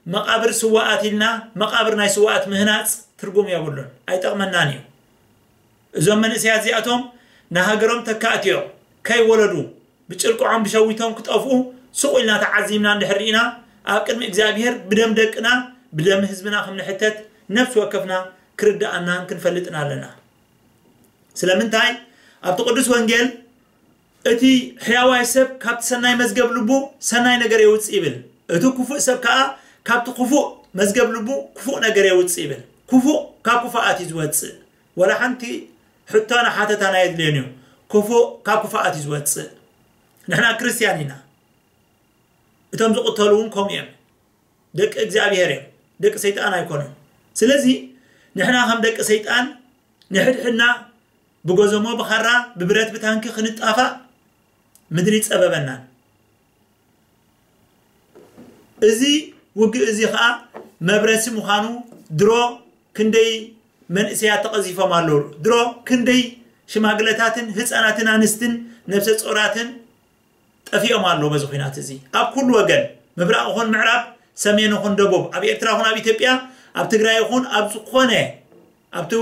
መቓብር ስዋኣት ኢልና መቓብር ናይ ስዋኣት ምህናጽ ትርጉም የብሉን፣ ኣይጠቕመናን እዩ። እዞም መንእሰያት እዚኣቶም ንሃገሮም ተካእቲ እዮም። ከይወለዱ ብጭርቅዖም ብሸዊቶም ክጠፍኡ ስቕ ኢልና ተዓዚብና እንድሕር ርኢና፣ ኣብ ቅድሚ እግዚኣብሄር ብደም ደቅና ብደም ህዝብና ከም ንሕተት ነፍሲ ወከፍና ክርድኣናን ክንፈልጥን ኣለና። ስለምንታይ? ኣብቲ ቅዱስ ወንጌል እቲ ሕያዋይ ሰብ ካብቲ ሰናይ መዝገብ ልቡ ሰናይ ነገር የውፅእ ይብል፣ እቲ ክፉእ ሰብ ከዓ ካብቲ ክፉእ መዝገብ ልቡ ክፉእ ነገር የውፅእ ይብል። ክፉእ ካብ ክፉኣት እዩ ዝወፅእ። ወላ ሓንቲ ሕቶና ሓተታን ኣየድልዮን እዩ። ክፉእ ካብ ክፉኣት እዩ ዝወፅእ። ንሕና ክርስትያን ኢና። እቶም ዝቕተሉ እውን ከምኡ እዮም። ደቂ እግዚኣብሔር እዮም። ደቂ ሰይጣን ኣይኮኑን። ስለዚ ንሕና ከም ደቂ ሰይጣን ንሕድሕድና ብጎዘሞ ብኻራ ብብረት ብታንኪ ክንጣፋእ ምድሪ ጸበበናን። እዚ ውግእ እዚ ኸኣ መብረሲ ምዃኑ ድሮ ክንደይ መንእሰያት ተቐዚፎም ኣለዉ። ድሮ ክንደይ ሽማግለታትን ህፃናትን ኣንስትን ነብሰ ጾራትን ጠፊኦም ኣለዉ በዚ ኲናት እዚ። ኣብ ኩሉ ወገን ምብራቕ ይኹን ምዕራብ፣ ሰሜን ይኹን ደቡብ፣ ኣብ ኤርትራ ይኹን ኣብ ኢትዮጵያ፣ ኣብ ትግራይ ይኹን ኣብ ዝኾነ ኣብቲ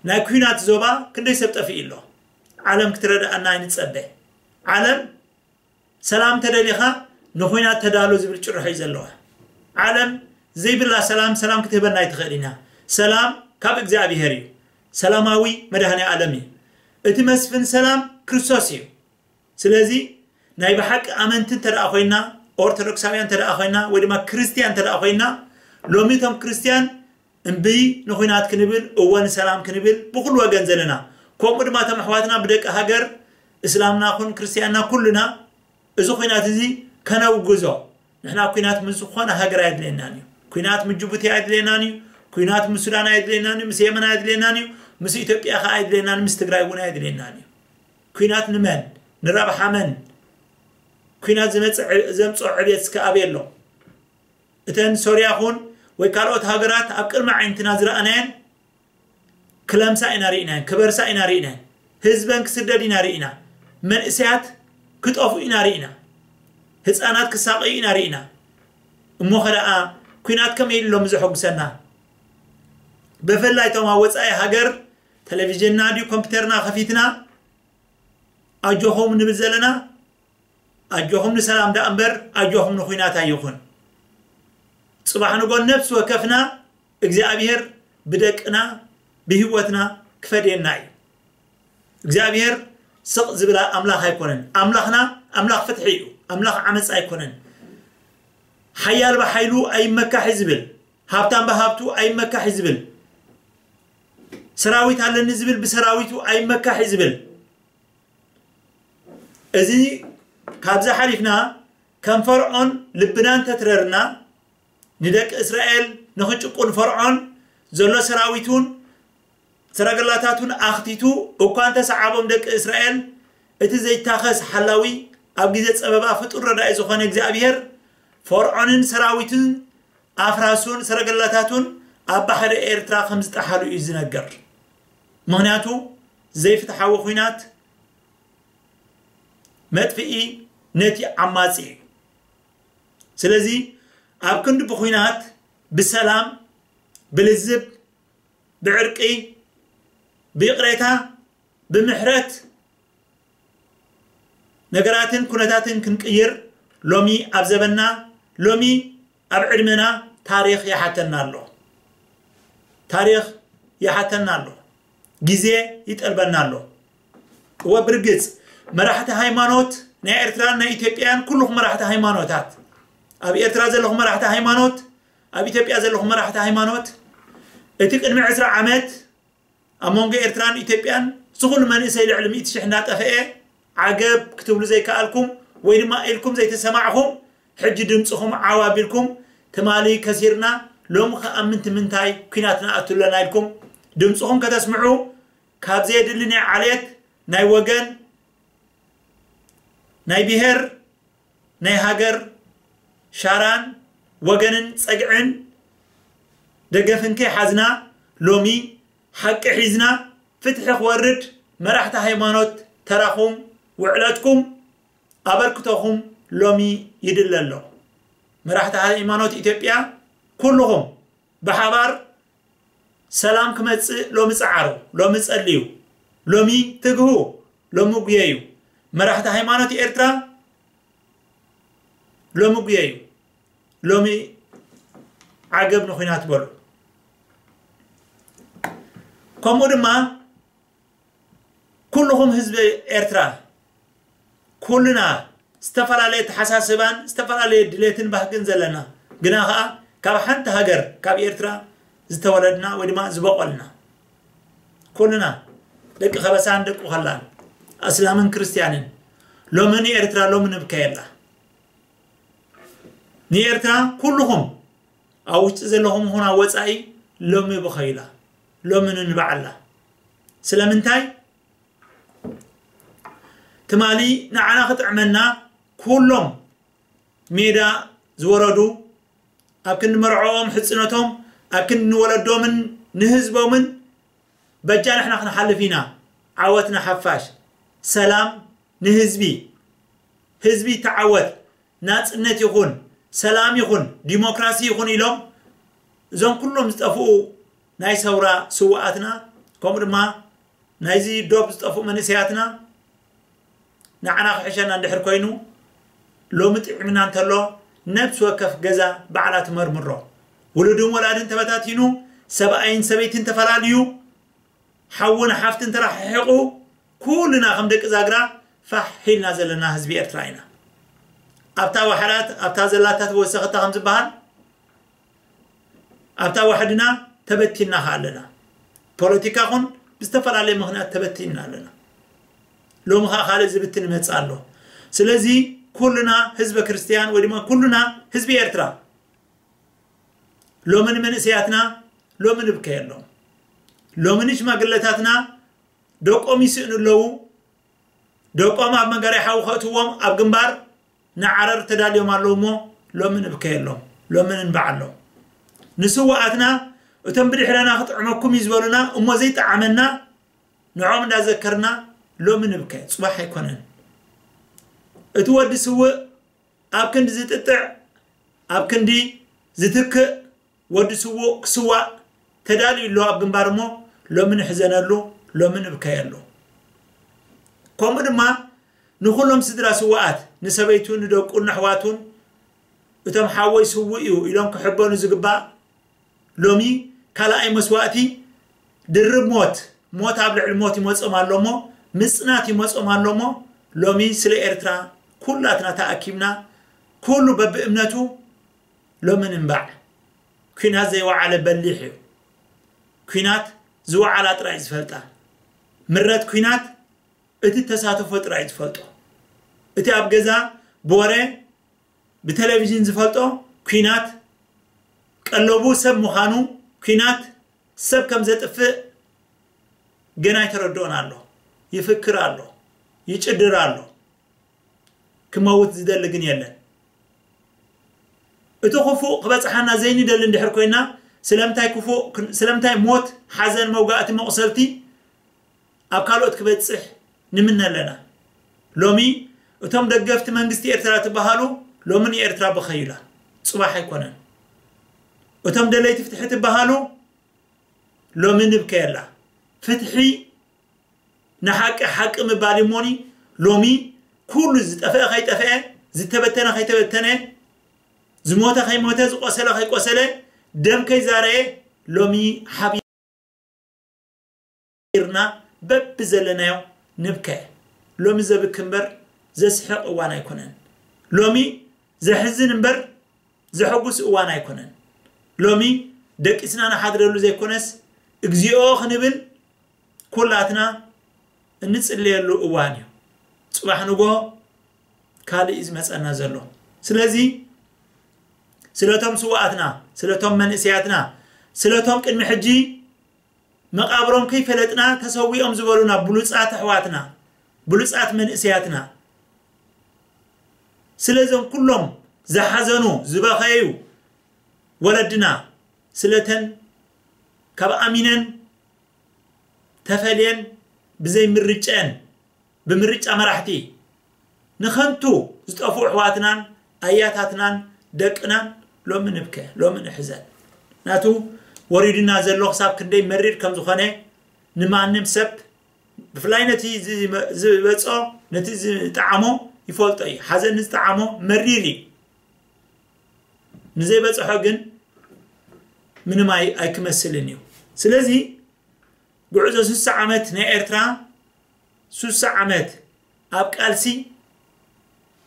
ናይ ኲናት ዞባ ክንደይ ሰብ ጠፊኡ ኣሎ። ዓለም ክትረድኣና ኣይንጸበ። ዓለም ሰላም ተደሊኻ ንኹናት ተዳሎ ዝብል ጭርሖ እዩ ዘለዋ። ዓለም ዘይብላ ሰላም ሰላም ክትህበና ኣይትኽእል ኢና። ሰላም ካብ እግዚኣብሔር እዩ። ሰላማዊ መድኃኔ ዓለም እዩ። እቲ መስፍን ሰላም ክርስቶስ እዩ። ስለዚ ናይ ብሓቂ ኣመንቲ እንተ ደኣ ኮይና፣ ኦርቶዶክሳውያን እንተ ደኣ ኮይና፣ ወይ ድማ ክርስትያን እንተ ደኣ ኮይና፣ ሎሚ እቶም ክርስትያን እምቢ ንኹናት ክንብል፣ እወ ንሰላም ክንብል ብኹሉ ወገን ዘለና፣ ከምኡ ድማ እቶም ኣሕዋትና ብደቂ ሃገር እስላምና ኩን ክርስትያንና ኩልና እዚ ኹናት እዚ ከነውግዞ። ንሕና ኲናት ምስ ዝኾነ ሃገር ኣየድልየናን እዩ። ኲናት ምስ ጅቡቲ ኣየድልየናን እዩ። ኲናት ምስ ሱዳን ኣየድልየናን እዩ። ምስ የመን ኣየድልየናን እዩ። ምስ ኢትዮጵያ ኸዓ ኣየድልየናን፣ ምስ ትግራይ እውን ኣየድልየናን እዩ። ኲናት ንመን? ንረብሓ መን? ኲናት ዝመጽእ ዕ-፣ ዘምጽኦ ዕብየት እስከ ኣበይ ኣሎ? እተን ሶርያ ኹን ወይ ካልኦት ሃገራት ኣብ ቅድሚ ዓይንትና ዝረኣናየን ክለምሳ ኢና ርኢናየን፣ ክበርሳ ኢና ርኢናየን። ህዝበን ክስደድ ኢና ርኢና። መንእሰያት ክጠፍኡ ኢና ርኢና። ህፃናት ክሳቐዩ ኢና ርኢና። እሞ ኸ ደኣ ኲናት ከመይ ኢሉ ሎሚ ዘሐጉሰና? ብፍላይ እቶም ኣብ ወፃኢ ሃገር ቴሌቪዥንና ድዩ ኮምፒውተርና ከፊትና ኣጆኹም ንብል ዘለና? ኣጆኹም ንሰላም ደኣ እምበር ኣጆኹም ንኹናት ኣይኹን። ጽባሕ ንጎ ነፍሲ ወከፍና እግዚኣብሔር ብደቅና ብህይወትና ክፈድየና እዩ። እግዚኣብሔር ስቕ ዝብል ኣምላኽ ኣይኮነን። ኣምላኽና ኣምላኽ ፍትሒ እዩ። ኣምላኽ ዓመጻ ኣይኮነን። ሓያል ብሓይሉ ኣይመካሕ እዩ ዝብል፣ ሃብታም ብሃብቱ ኣይመካሕ እዩ ዝብል፣ ሰራዊት ኣለኒ ዝብል ብሰራዊቱ ኣይመካሕ እዩ ዝብል። እዚ ካብዚ ሓሊፍና ከም ፈርዖን ልብና እንተትረርና፣ ንደቂ እስራኤል ንኽጭቁን ፈርዖን ዘሎ ሰራዊቱን ሰረገላታቱን ኣኽቲቱ እኳ እንተሰዓቦም ደቂ እስራኤል፣ እቲ ዘይታኸስ ሓላዊ ኣብ ግዜ ጸበባ ፍጡር ረዳኢ ዝኾነ እግዚኣብሔር ፈርዖንን ሰራዊቱን ኣፍራሱን ሰረገላታቱን ኣብ ባሕሪ ኤርትራ ከም ዝጠሓሉ እዩ ዝነገር። ምኽንያቱ ዘይፍትሓዊ ኹናት መጥፍኢ ነቲ ዓማጺ እዩ። ስለዚ ኣብ ክንዲ ብኹናት ብሰላም፣ ብልዝብ፣ ብዕርቂ፣ ብይቕሬታ፣ ብምሕረት ነገራትን ኩነታትን ክንቅይር ሎሚ ኣብ ዘበንና፣ ሎሚ ኣብ ዕድመና ታሪኽ ይሓተና ኣሎ። ታሪኽ ይሓተና ኣሎ። ግዜ ይጠልበና ኣሎ። እወ ብርግጽ መራሕቲ ሃይማኖት ናይ ኤርትራን ናይ ኢትዮጵያን ኩልኹም መራሕቲ ሃይማኖታት፣ ኣብ ኤርትራ ዘለኹም መራሕቲ ሃይማኖት፣ ኣብ ኢትዮጵያ ዘለኹም መራሕቲ ሃይማኖት፣ እቲ ቅድሚ ዕስራ ዓመት ኣብ መንጎ ኤርትራን ኢትዮጵያን ዝኹሉ መንእሰይ ልዕሊ ሚእቲ ሽሕ እናጠፍአ ዓገብ ክትብሉ ዘይከኣልኩም ወይ ድማ ኢልኩም ዘይተሰማዕኹም፣ ሕጂ ድምፅኹም ዓው ኣቢልኩም ትማሊ ከሲርና ሎሚ ከኣ ምንቲ ምንታይ ኲናት ንኣቱ ኣለና ኢልኩም ድምፅኹም ከተስምዑ ካብ ዘየድሊ ናይ ዓሌት ናይ ወገን ናይ ብሔር ናይ ሃገር ሻራን ወገንን ጸግዕን ደገፍን ከይሓዝና ሎሚ ሓቂ ሒዝና ፍትሒ ክወርድ መራሕቲ ሃይማኖት ተራኹም ውዕለትኩም ኣበርክቶኹም ሎሚ ይድለ ኣሎ። መራሕቲ ሃይማኖት ኢትዮጵያ ኩልኹም ብሓባር ሰላም ክመጽእ ሎሚ ጸዓሩ፣ ሎሚ ጸልዩ፣ ሎሚ ትግሁ፣ ሎሚ ጉየዩ። መራሕቲ ሃይማኖት ኤርትራ ሎሚ ጉየዩ፣ ሎሚ ዓገብ ንኹናት በሉ። ከምኡ ድማ ኩልኹም ህዝቢ ኤርትራ ኩልና ዝተፈላለየ ተሓሳስባን ዝተፈላለየ ድሌትን ባህግን ዘለና ግና ኸኣ ካብ ሓንቲ ሃገር ካብ ኤርትራ ዝተወለድና ወይ ድማ ዝበቆልና ኩልና ደቂ ከበሳን ደቂ ኸላን ኣስላምን ክርስትያንን ሎሚ ንኤርትራ ሎሚ ንብከየላ ንኤርትራ ኩልኹም ኣብ ውሽጢ ዘለኹም ኹን ኣብ ወጻኢ ሎሚ ብኸይላ ሎሚ ንንባዓላ ስለምንታይ ትማሊ ንዓና ክጥዕመና ኩሎም ሜዳ ዝወረዱ ኣብ ክንዲ መርዖኦም ሕጽነቶም ኣብ ክንዲ ንወለዶምን ንህዝቦምን በጃ ንሕና ክንሓልፍ ኢና ዓወትና ሓፋሽ ሰላም ንህዝቢ ህዝቢ ተዓወት ናጽነት ይኹን ሰላም ይኹን ዲሞክራሲ ይኹን ኢሎም እዞም ኩሎም ዝጠፍኡ ናይ ሰውራ ስውኣትና ከምኡ ድማ ናይዚ ዶብ ዝጠፍኡ መንእሰያትና ንዓና ክሕሸና እንድሕር ኮይኑ ሎሚ ጥዕምና እንተሎ፣ ነብሲ ወከፍ ገዛ ባዕላ ትመርምሮ። ውሉድን ወላድን ተበታቲኑ፣ ሰብኣይን ሰበይትን ተፈላልዩ፣ ሓውን ሓፍትን ተራሕሒቑ፣ ኩልና ከም ደቂ ዛግራ ፋሕ ኢልና ዘለና ህዝቢ ኤርትራ ኢና። ኣብታ ዋሕዳት፣ ኣብታ ዘላታ ተወሰኸታ ከም ዝበሃል፣ ኣብታ ዋሕድና ተበቲንና ከኣ ኣለና። ፖለቲካ ኹን ብዝተፈላለየ ምኽንያት ተበቲንና ኣለና። ሎሚ ኸኣ ካልእ ዝብትን ይመጽእ ኣሎ። ስለዚ ኩልና ህዝበ ክርስትያን ወይ ድማ ኩልና ህዝቢ ኤርትራ ሎሚ ንመንእሰያትና ሎሚ ንብከየሎም። ሎሚ ንሽማግለታትና ደቆም ይስእኑ ኣለዉ። ደቆም ኣብ መጋርያ ሓዊ ከእትዎም ኣብ ግንባር ንዓረር ተዳልዮም ኣለዉ እሞ ሎሚ ንብከየሎም፣ ሎሚ ንንባዓሎም። ንስውኣትና እቶም ብድሕረና ክጥዕመኩም እዩ ዝበሉና እሞ ዘይጠዓመና ንዖም እንዳዘከርና ሎሚ ንብከ። ጽባሕ ኣይኮነን። እቲ ወዲ ስውእ ኣብ ክንዲ ዝጥጥዕ፣ ኣብ ክንዲ ዝትክእ፣ ወዲ ስውእ ክስዋእ ተዳልዩ ኣሎ ኣብ ግንባር እሞ ሎሚ ንሕዘነሉ፣ ሎሚ ንብከየሉ። ከምኡ ድማ ንኹሎም ስድራ ስውኣት፣ ንሰበይቱን ንደቁን ንኣሕዋቱን እቶም ሓወይ ስውእ እዩ ኢሎም ክሕበኑ ዝግባእ ሎሚ ካልኣይ መስዋእቲ ድርብ ሞት፣ ሞት ኣብ ልዕሊ ሞት ይመጾም ኣሎ እሞ፣ ምጽናት ይመጾም ኣሎ እሞ፣ ሎሚ ስለ ኤርትራ ኩላትና ተኣኪብና፣ ኩሉ በብእምነቱ ሎሚ ንንባዕ። ኲናት ዘይወዓለ በሊሕ እዩ። ኲናት ዝወዓላ ጥራይ ዝፈልጣ። ምረት ኲናት እቲ ተሳተፎ ጥራይ ዝፈልጦ። እቲ ኣብ ገዛ ብወረ ብቴሌቪዥን ዝፈልጦ ኲናት ቀለቡ ሰብ ምዃኑ፣ ኲናት ሰብ ከም ዘጥፍእ ገና ኣይተረድኦን ኣሎ። ይፍክር ኣሎ፣ ይጭድር ኣሎ። ክመውት ዝደሊ ግን የለን። እቲ ክፉእ ክበጽሓና ዘይንደሊ እንድሕር ኮይና፣ ስለምንታይ ክፉእ ክን-፣ ስለምንታይ ሞት፣ ሓዘን፣ መውጋእቲ፣ መቑሰልቲ ኣብ ካልኦት ክበጽሕ ንምነ ኣለና? ሎሚ እቶም ደገፍቲ መንግስቲ ኤርትራ ትበሃሉ፣ ሎሚ ንኤርትራ ብኸዩላ፣ ጽባሕ ኣይኮነን። እቶም ደለይቲ ፍትሒ ትበሃሉ፣ ሎሚ ንብከየላ። ፍትሒ ንሓቂ ሓቂ ምባል እሞኒ፣ ሎሚ ኩሉ ዝጠፍአ ከይጠፍአ፣ ዝተበተነ ከይተበተነ፣ ዝሞተ ከይሞተ፣ ዝቆሰለ ከይቆሰለ፣ ደም ከይዛረየ፣ ሎሚ ሓቢርና በብዘለናዮ ንብከ። ሎሚ ዘብኪ እምበር ዘስሕቕ እዋን ኣይኮነን። ሎሚ ዘሕዝን እምበር ዘሐጉስ እዋን ኣይኮነን። ሎሚ ደቂስና ንሓድረሉ ዘይኮነስ፣ እግዚኣብሔር ክንብል ኩላትና እንጽልየሉ እዋን እዩ። ጽባሕ ንግሆ ካልእ እዩ ዝመጸና ዘሎ። ስለዚ ስለቶም ስውኣትና፣ ስለቶም መንእሰያትና፣ ስለቶም ቅድሚ ሕጂ መቓብሮም ከይፈለጥና ተሰዊኦም ዝበሉና ብሉጻት ኣሕዋትና፣ ብሉጻት መንእሰያትና፣ ስለዞም ኩሎም ዝሓዘኑ፣ ዝበኸዩ ወለድና፣ ስለተን ካብ ኣሚነን ተፈልየን ብዘይ ምርጨን፣ ብምርጫ መራሕቲ ንኸንቱ ዝጠፍኡ ኣሕዋትናን ኣያታትናን ደቅናን ሎሚ ንብከ፣ ሎሚ ንሕዘን። ናቱ ወሪዱና ዘሎ ክሳብ ክንደይ መሪር ከም ዝኾነ ንማንም ሰብ፣ ብፍላይ ነቲ ዝመ-፣ ዝበጾ፣ ነቲ ዝጠዓሞ ይፈልጦ እዩ። ሓዘን ንዝጠዓሞ መሪር እዩ። ንዘይበጽሖ ግን ምንም ኣይ-፣ ኣይክመስልን እዩ። ስለዚ ጉዕዞ ስሳ ዓመት ናይ ኤርትራ፣ ስሳ ዓመት ኣብ ቃልሲ፣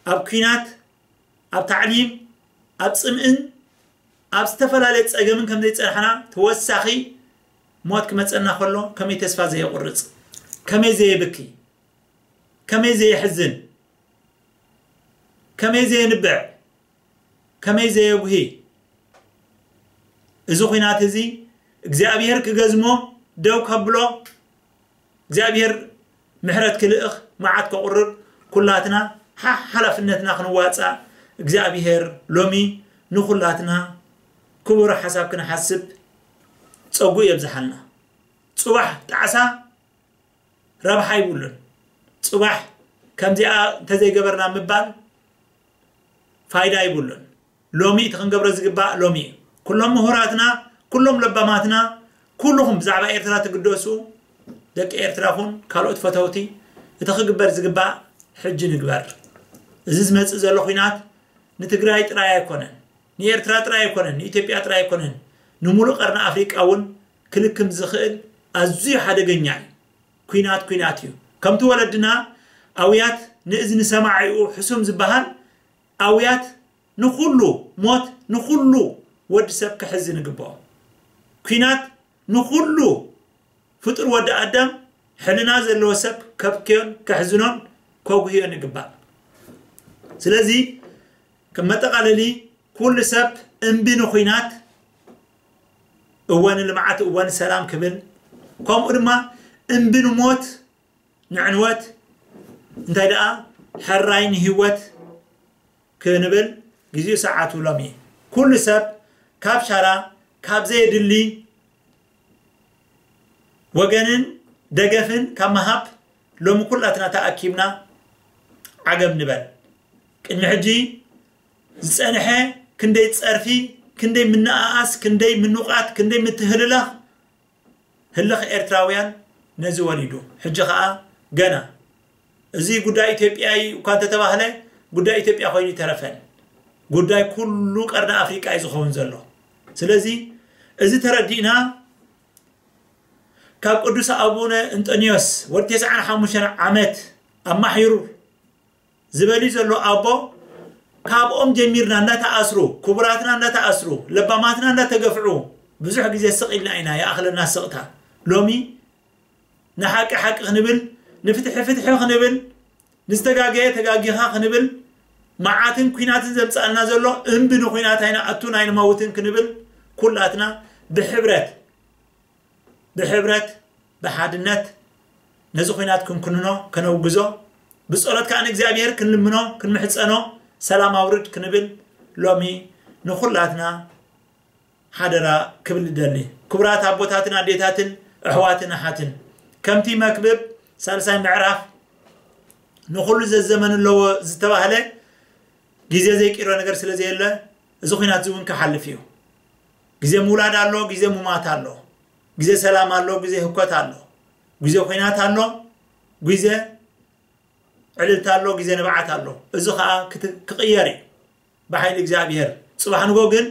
ኣብ ኲናት፣ ኣብ ታዕሊም፣ ኣብ ጽምእን ኣብ ዝተፈላለየ ጸገምን ከም ዘይጸናሕና፣ ተወሳኺ ሞት ክመጸና ከሎ ከመይ ተስፋ ዘየቑርጽ፣ ከመይ ዘየብኪ፣ ከመይ ዘየሕዝን፣ ከመይ ዘየንብዕ፣ ከመይ ዘየጉሂ። እዚ ኹናት እዚ እግዚኣብሔር ክገዝሞ፣ ደው ከብሎ፣ እግዚኣብሔር ምሕረት ክልእኽ፣ መዓት ከቑርብ፣ ኩላትና ሓ-፣ ሓላፍነትና ክንዋጻእ እግዚኣብሔር ሎሚ ንኹላትና ክቡር ሓሳብ ክንሓስብ ጸጉ የብዝሓልና። ጽባሕ ጣዕሳ ረብሓ ይብሉን። ጽባሕ ከምዚኣ እንተዘይገበርና ምባል ፋይዳ ይብሉን። ሎሚ እቲ ክንገብሮ ዝግባእ ሎሚ እዩ። ኩሎም ምሁራትና፣ ኩሎም ለባማትና፣ ኩልኹም ብዛዕባ ኤርትራ ትግደሱ፣ ደቂ ኤርትራ ኹን ካልኦት ፈተውቲ፣ እቲ ክግበር ዝግባእ ሕጂ ንግበር። እዚ ዝመጽእ ዘሎ ኹናት ንትግራይ ጥራይ ኣይኮነን፣ ንኤርትራ ጥራይ ኣይኮነን፣ ንኢትዮጵያ ጥራይ ኣይኮነን፣ ንሙሉእ ቀርኒ ኣፍሪቃ እውን ክልክም ዝኽእል ኣዝዩ ሓደገኛ እዩ። ኲናት ኲናት እዩ። ከምቲ ወለድና ኣውያት ንእዝኒ ሰማዒኡ ሕሱም ዝበሃል ኣውያት ንኹሉ ሞት ንኹሉ ወዲ ሰብ ከሕዝን ይግብኦ። ኲናት ንኹሉ ፍጡር ወዲ ኣዳም ሕልና ዘለዎ ሰብ ከብክዮን ከሕዝኖን ከጉህዮን ይግባእ። ስለዚ ከም መጠቓለሊ ኩሉ ሰብ እምቢ ንኹናት እወ ንልምዓት እወ ንሰላም ክብል ከምኡ ድማ እምቢ ንሞት ንዕንወት እንታይ ደኣ ሕራይ ንህይወት ክንብል ግዚኡ ሰዓቱ ሎሚ ኩሉ ሰብ ካብ ሻራ ካብ ዘየድሊ ወገንን ደገፍን ካብ ምሃብ ሎሚ ኩላትና ተኣኪብና ዓገብ ንበል። ቅድሚ ሕጂ ዝጸንሐ ክንደይ ጸርፊ፣ ክንደይ ምንኣኣስ፣ ክንደይ ምንውቓት፣ ክንደይ ምትህልላኽ ህልኽ ኤርትራውያን ነዚ ወሊዱ። ሕጂ ኸኣ ገና እዚ ጉዳይ ኢትዮጵያ እዩ እኳ እንተተባህለ ጉዳይ ኢትዮጵያ ኮይኑ ይተረፈን ጉዳይ ኩሉ ቀርኒ ኣፍሪቃ እዩ ዝኸውን ዘሎ። ስለዚ እዚ ተረዲእና ካብ ቅዱስ ኣቡነ እንጠንዮስ ወዲ ተስዓን ሓሙሽተን ዓመት ኣማሒሩ ዝበሊ ዘሎ ኣቦ ካብኦም ጀሚርና እንዳተኣስሩ ክቡራትና እንዳተኣስሩ ለባማትና እንዳተገፍዑ ብዙሕ ግዜ ስቕ ኢልና ኢና ይኣኽለና ስቕታ። ሎሚ ንሓቂ ሓቂ ክንብል ንፍትሒ ፍትሒ ክንብል ንዝተጋገየ ተጋጊኻ ክንብል መዓትን ኲናትን ዘምጻልና ዘሎ እምቢ ንኹናት ኣይንኣቱን ኣይንመውትን ክንብል ኩላትና ብሕብረት ብሕብረት ብሓድነት ነዚ ኹናት ክንኩንኖ ከነውግዞ ብጸሎት ከኣ ንእግዚኣብሔር ክንልምኖ ክንምሕጸኖ ሰላም ኣውርድ ክንብል ሎሚ ንኹላትና ሓደራ ክብል እደሊ። ክቡራት ኣቦታትን ኣዴታትን ኣሕዋትን ኣሓትን ከምቲ መክብብ ሳልሳይ ምዕራፍ ንኹሉ ዘዘመን ኣለዎ ዝተባህለ ግዜ ዘይቅይሮ ነገር ስለ ዘየለ እዚ ኹናት እዚ እውን ክሓልፍ እዩ። ግዜ ምውላድ ኣሎ፣ ግዜ ምማት ኣሎ፣ ግዜ ሰላም ኣሎ፣ ግዜ ህኮት ኣሎ፣ ግዜ ኹናት ኣሎ፣ ግዜ ዕልልታ ኣሎ፣ ግዜ ንብዓት ኣሎ። እዚ ኸኣ ክት- ክቕየር እዩ ብሓይሊ እግዚኣብሔር። ጽባሕ ንጎ ግን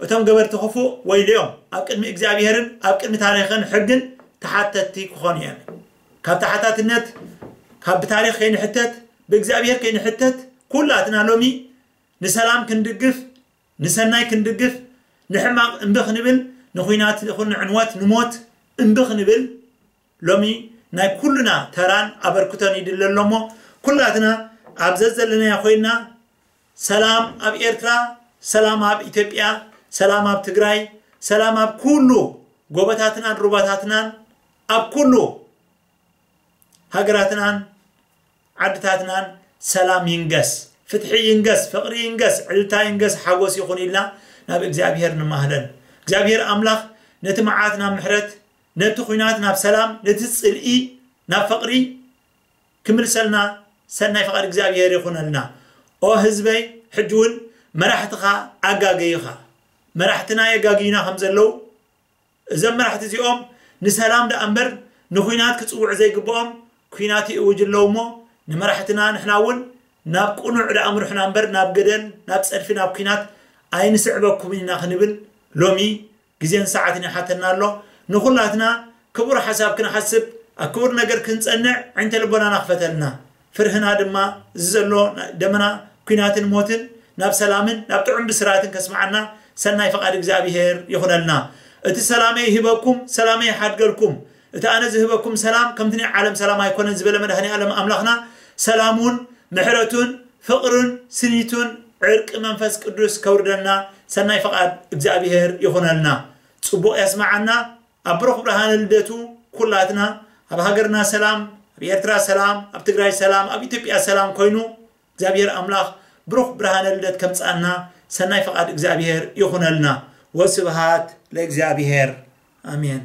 እቶም ገበርቲ ክፉእ ወይልዮም ኣብ ቅድሚ እግዚኣብሔርን ኣብ ቅድሚ ታሪኽን ሕግን ተሓተትቲ ክኾኑ እዮም። ካብ ተሓታትነት ካብ ብታሪኽ ከይንሕተት ብእግዚኣብሔር ከይንሕተት ኩላትና ሎሚ ንሰላም ክንድግፍ ንሰናይ ክንድግፍ ንሕማቕ እምቢ ክንብል ንኹናት ይኹን ንዕንወት ንሞት እምቢ ክንብል ሎሚ ናይ ኩልና ተራን ኣበርክቶን ይድለ ኣሎ እሞ ኩላትና ኣብ ዘዘለናዮ ኮይንና ሰላም ኣብ ኤርትራ፣ ሰላም ኣብ ኢትዮጵያ፣ ሰላም ኣብ ትግራይ፣ ሰላም ኣብ ኩሉ ጎቦታትናን ሩባታትናን ኣብ ኩሉ ሃገራትናን ዓድታትናን ሰላም ይንገስ፣ ፍትሒ ይንገስ፣ ፍቕሪ ይንገስ፣ ዕልልታ ይንገስ፣ ሓጎስ ይኹን ኢልና ናብ እግዚኣብሔር ንማህለል። እግዚኣብሔር ኣምላኽ ነቲ መዓት ናብ ምሕረት፣ ነቲ ኹናት ናብ ሰላም፣ ነቲ ጽልኢ ናብ ፍቕሪ ክምልሰልና ሰናይ ፍቓድ እግዚኣብሔር ይኹነልና። ኦ ህዝበይ፣ ሕጂ እውን መራሕትኻ ኣጋገዩኻ። መራሕትና የጋግዩና ከም ዘለዉ እዞም መራሕቲ እዚኦም ንሰላም ደኣ እምበር ንኹናት ክጽውዑ ዘይግብኦም ኲናት ይእውጅ ኣለዉ እሞ ንመራሕትና ንሕና እውን ናብ ቅኑዕ ደኣ ምርሑና እምበር ናብ ገደል ናብ ጸድፊ ናብ ኲናት ኣይንስዕበኩም ኢና ክንብል ሎሚ ግዜን ሰዓትን ይሓተና ኣሎ። ንኹላትና ክቡር ሓሳብ ክንሓስብ ኣብ ክቡር ነገር ክንጸንዕ ዓይንተ ልቦናና ክፈተልና። ፍርህና ድማ እዚ ዘሎ ደመና ኲናትን ሞትን ናብ ሰላምን ናብ ጥዑም ብስራትን ከስምዓና ሰናይ ፍቓድ እግዚኣብሔር ይኹነልና። እቲ ሰላመይ ይህበኩም፣ ሰላመይ ይሓድገልኩም። እቲ ኣነ ዝህበኩም ሰላም ከምቲ ናይ ዓለም ሰላም ኣይኮነን ዝበለ መድኃኔ ዓለም ኣምላኽና ሰላሙን ምሕረቱን ፍቕሩን ስኒቱን ዕርቂ መንፈስ ቅዱስ ከውርደልና ሰናይ ፍቓድ እግዚኣብሔር ይኹነልና። ጽቡቕ የስምዓና። ኣብ ብሩኽ ብርሃነ ልደቱ ኩላትና ኣብ ሃገርና ሰላም፣ ኣብ ኤርትራ ሰላም፣ ኣብ ትግራይ ሰላም፣ ኣብ ኢትዮጵያ ሰላም ኮይኑ እግዚኣብሔር ኣምላኽ ብሩኽ ብርሃነ ልደት ከምጽኣልና ሰናይ ፍቓድ እግዚኣብሔር ይኹነልና። ወስብሃት ለእግዚኣብሔር። ኣሜን።